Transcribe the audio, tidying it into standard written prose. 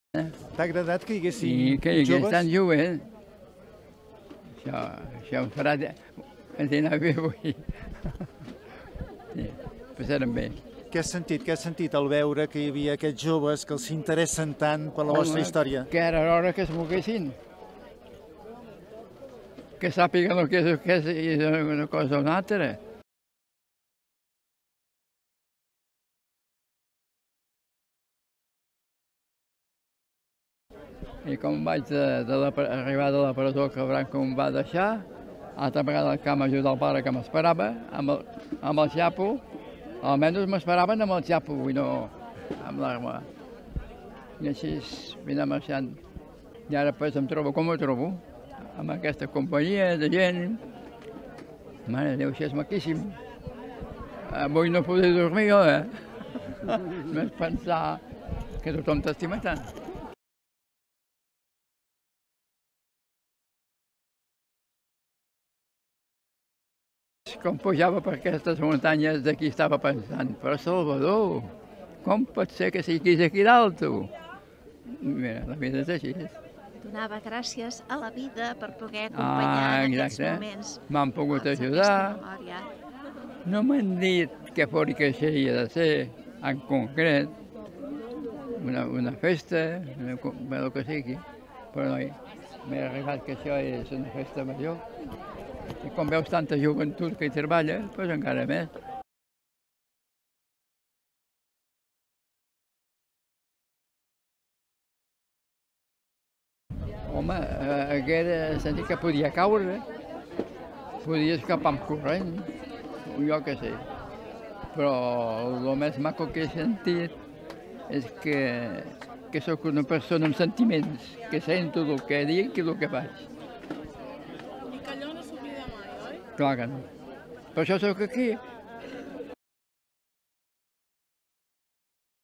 T'ha agradat que hi haguessin I que hi hagués joves? tant jovent. Això em farà anar bé avui. Sí, passarem bé. Què has sentit? Què has sentit al veure que hi havia aquests joves que els interessen tant per la vostra història? Que era l'hora que es moguessin. Que sàpiguen el que és una cosa o una altra. I com vaig arribar de la presó que el Branco em va deixar, altra vegada que vam ajudar el pare que m'esperava, amb el xapo, almenys m'esperaven amb el xapo i no amb l'arma. I així vine marxant. I ara pues em trobo com ho trobo, amb aquesta companyia de gent. Mare de Déu, això és maquíssim. Avui no podré dormir jo, Només pensar que tothom t'estima tant. Com pujava per aquestes muntanyes d'aquí estava pensant, però Salvador, com pot ser que siguis aquí dalt, tu? Mira, la vida és així. Donava gràcies a la vida per poder acompanyar en aquests moments. M'han pogut ajudar. No m'han dit que fos que així ha de ser, en concret, una festa, el que sigui, però m'he arribat que això és una festa major. I quan veus tanta joventut que hi treballa, doncs encara més. Home, haguera sentit que podia caure, podia escapar amb corrent, jo què sé. Però el més maco que he sentit és que sóc una persona amb sentiments, que sento el que dic i el que faig. I que allò no s'oblida mai, oi? Clar que no. Per això sóc aquí.